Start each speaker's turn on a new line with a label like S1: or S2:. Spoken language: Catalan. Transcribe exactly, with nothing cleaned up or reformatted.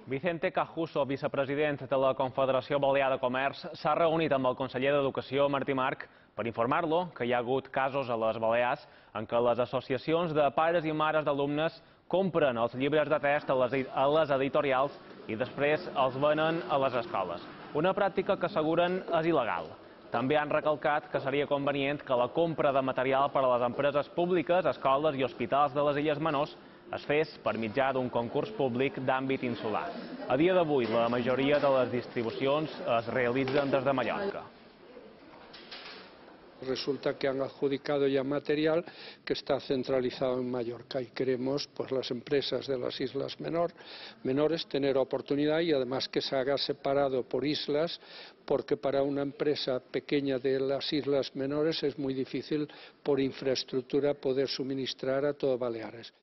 S1: Vicente Cajuso, vicepresident de la Confederació Balear de Comerç, s'ha reunit amb el conseller d'Educació, Martí March, per informar-lo que hi ha hagut casos a les Balears en què les associacions de pares i mares d'alumnes compren els llibres de text a les, a les editorials i després els venen a les escoles. Una pràctica que asseguren és il·legal. També han recalcat que seria convenient que la compra de material per a les empreses públiques, escoles i hospitals de les Illes Menors es fes per mitjà d'un concurs públic d'àmbit insular. A dia d'avui, la majoria de les distribucions es realitzen des de Mallorca.
S2: Resulta que han adjudicado ya material que está centralizado en Mallorca y queremos, pues, las empresas de las islas menor, menores tener oportunidad y además que se haga separado por islas, porque para una empresa pequeña de las islas menores es muy difícil por infraestructura poder suministrar a todo Baleares.